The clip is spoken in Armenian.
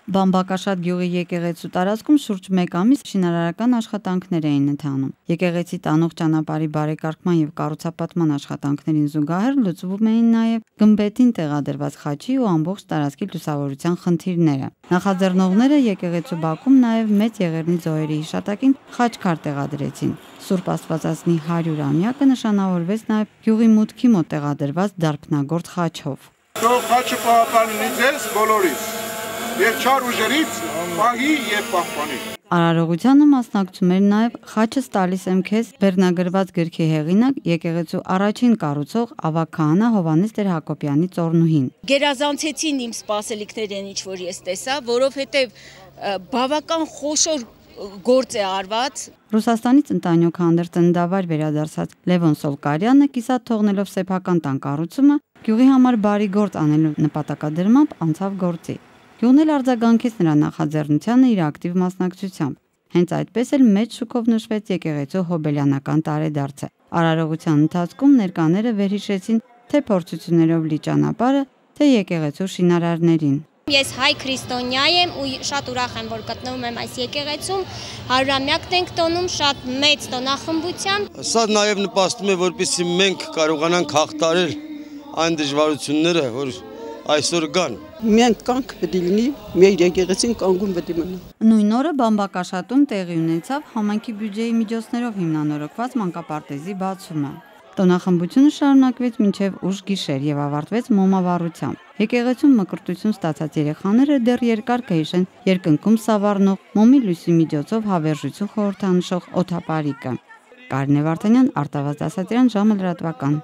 Բամբակաշատ գյուղի եկեղեցու տարածքում շուրջ 1 ամիս շինարարական աշխատանքներ էին ընթանում։ Եկեղեցի տանող ճանապարհի բարեկարգման եւ կառուցապատման աշխատանքներին զուգահեռ լուծվում էին նաեւ գմբեթին տեղադրված խաչի ու ամբողջ տարածքի լուսավորության խնդիրները։ Նախաձեռնողները եկեղեցու բակում նաեւ մեծ եղեռնի ձողերի հիշատակին խաչքար տեղադրեցին։ Սուրբ Աստվածածնի 100-ամյակը նշանավորվեց նաեւ գյուղի մուտքի մոտ տեղադրված դարբնագործ խաչով։ Թող խաչը պահպանի ձեզ բոլորից եւ չար ուժերից պահի եւ պահպանի։ Արարողությանը մասնակցում էր նաև «Խաչս տալիս եմ քեզ» վերնագրված գրքի հեղինակ եկեղեցու առաջին կառուցող ավագ քահանա Հովհաննես Տեր-Հակոբյանի ծոռնուհին։ Գերազանցեցին իմ սպասելիքներն ինչ որ ես տեսա, որովհետև բավական խոշոր գործ է արված։ Ռուսաստանից ընտանյոք հանդերձ ծննդավայր վերադարձած Լևոն Սոլկարյանը կիսատ թողնելով սեփական տան կառուցումը գյուղի համար բարի գործ անելու նպատակադրմամբ անցավ գործի։ Գյուղն էլ արձագանքեց նրա նախաձեռնությանը իր ակտիվ մասնակցությամբ։ Հենց այդպես էլ մեծ շուկով նշվեց եկեղեցու հոբելյանական տարեդարձը։ Արարողության ընթացքում ներկաները վերհիշեցին թե փորձություններով լի ճանապարհը, թե եկեղեցու շինարարներին։ Ես հայ քրիստոնյա եմ ու շատ ուրախ եմ, որ գտնվում եմ այս եկեղեցում, 100-ամյակն ենք տոնում շատ մեծ տոնախմբությամբ։ Սա նաև նպաստում է, որպեսզի մենք կարողանանք հաղթահարել այն դժվարությունները, որ այսօր կան։ Մենք կանք պետք է լինի, մեր եկեղեցին կանգուն պետք է մնա։ Նույն օրը Բամբակաշատում տեղի ունեցավ համայնքի բյուջեի միջոցներով հիմնանորոգված մանկապարտեզի բացումը։ Տոնախմբությունը շարունակվեց մինչև ուշ գիշեր եւ ավարտվեց մոմավառությամբ։ Եկեղեցում մկրտություն ստացած երեխաները դեռ երկար կհիշեն երկնքում սավառնող մոմի լույսի միջոցով հավերժություն խորհրդանշող օդապարիկը։ Կարինե Վարդանյան, Արտավազդ Ասատրյան, ժամը լրատվական։